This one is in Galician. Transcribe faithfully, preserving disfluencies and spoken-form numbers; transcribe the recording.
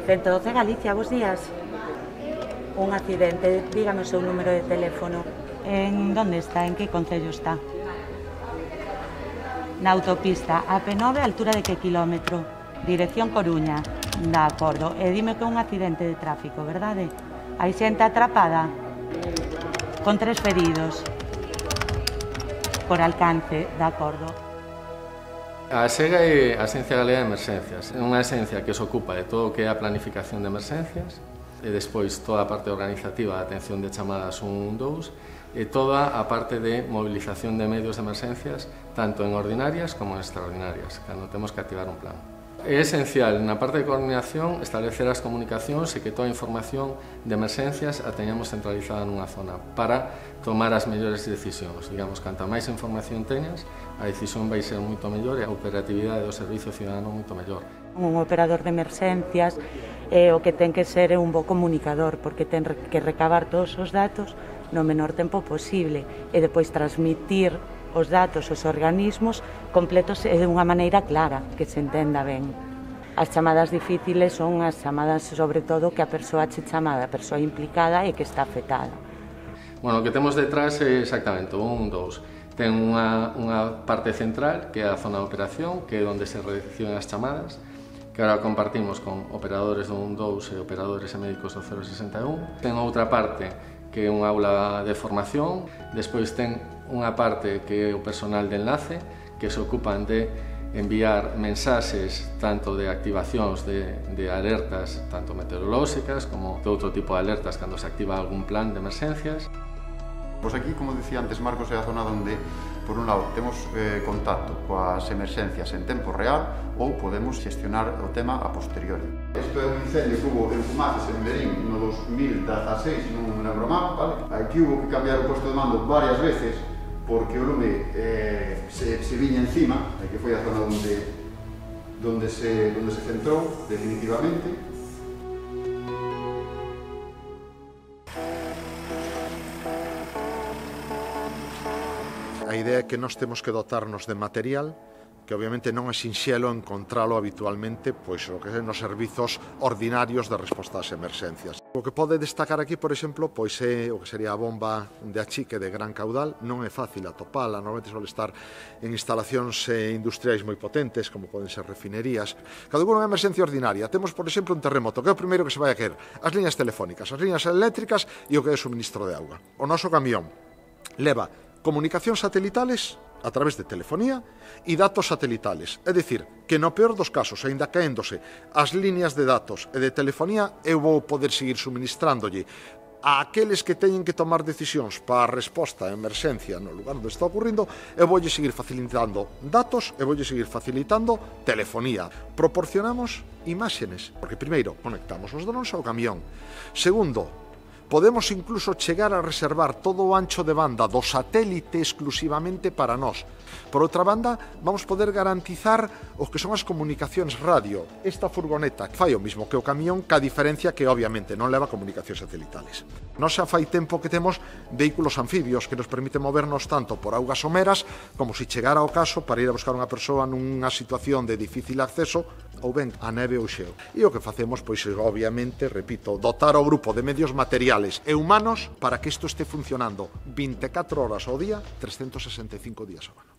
ciento doce Galicia, bos días. Un accidente, dígame o seu número de teléfono. En onde está? En que concello está? Na autopista A P nove, altura de que kilómetro? Dirección Coruña. De acordo. E dime que é un accidente de tráfico, verdade? Hai xente atrapada? Con tres feridos. Por alcance, de acordo. A SEGA é a Axencia Galega de Emerxencias. É unha axencia que se ocupa de todo o que é a planificación de emerxencias e despois toda a parte organizativa da atención de chamadas un dous e toda a parte de movilización de medios de emerxencias tanto en ordinarias como en extraordinarias, cando temos que activar un plan. É esencial na parte de coordinación establecer as comunicacións e que toda a información de emerxencias a teñamos centralizada nunha zona para tomar as mellores decisións. Digamos, canta máis información teñas, a decisión vai ser moito mellor e a operatividade do servicio cidadano moito mellor. Un operador de emerxencias eh, o que ten que ser é un bo comunicador porque ten que recabar todos os datos no menor tempo posible e depois transmitir os datos aos organismos completos e de unha maneira clara, que se entenda ben. As chamadas difíciles son as chamadas, sobre todo, que a persoa che chamada, a persoa implicada e que está afectada. Bueno, o que temos detrás é exactamente un, dous. Ten unha, unha parte central, que é a zona de operación, que é onde se reciben as chamadas, que agora compartimos con operadores do un dous e operadores e médicos do cero sesenta e un. Ten outra parte, que é unha aula de formación, despois ten unha parte que é o personal de enlace, que se ocupan de enviar mensaxes tanto de activacións de, de alertas, tanto meteorolóxicas como de outro tipo de alertas cando se activa algún plan de emerxencias. Pois aquí, como dicía antes Marcos, é a zona onde, por un lado, temos eh, contacto coas emerxencias en tempo real ou podemos xestionar o tema a posteriori. Isto é un incendio que hubo en Fumaces, en Berín, no dos mil dezaseis, non me lembro mal, vale? Aquí hubo que cambiar o posto de mando varias veces porque o lume eh, se, se viña encima, que foi a zona onde, donde, se, donde se centrou definitivamente. A idea é que nós temos que dotarnos de material que obviamente non é sinxelo encontralo habitualmente pois o que é nos servizos ordinarios de resposta ás emerxencias. O que pode destacar aquí, por exemplo, pois é o que sería a bomba de achique de gran caudal. Non é fácil atopala, normalmente suele estar en instalacións industriais moi potentes, como poden ser refinerías. Cando unha emerxencia ordinaria, temos, por exemplo, un terremoto, que é o primeiro que se vai a querer, as liñas telefónicas, as liñas eléctricas e o que é o suministro de auga. O noso camión leva comunicacións satelitales a través de telefonía e datos satelitales. É dicir, que no peor dos casos, aínda caéndose as líneas de datos e de telefonía, eu vou poder seguir suministrándolle a aqueles que teñen que tomar decisións para a resposta a emerxencia no lugar onde está ocurrindo, eu voulle seguir facilitando datos e voulle seguir facilitando telefonía. Proporcionamos imágenes, porque primeiro conectamos os drones ao camión. Segundo, podemos incluso chegar a reservar todo o ancho de banda do satélite exclusivamente para nós. Por outra banda, vamos poder garantizar o que son as comunicacións radio. Esta furgoneta fai o mismo que o camión, ca diferencia que obviamente non leva comunicacións satelitales. Nós xa fai tempo que temos vehículos anfibios que nos permiten movernos tanto por augas someras como se chegara ao caso para ir a buscar unha persoa nunha situación de difícil acceso ou ben a neve ou xeo. E o que facemos, pois, obviamente, repito, dotar o grupo de medios materiales e humanos para que isto este funcionando vinte e catro horas ao día, trescentos sesenta e cinco días ao ano.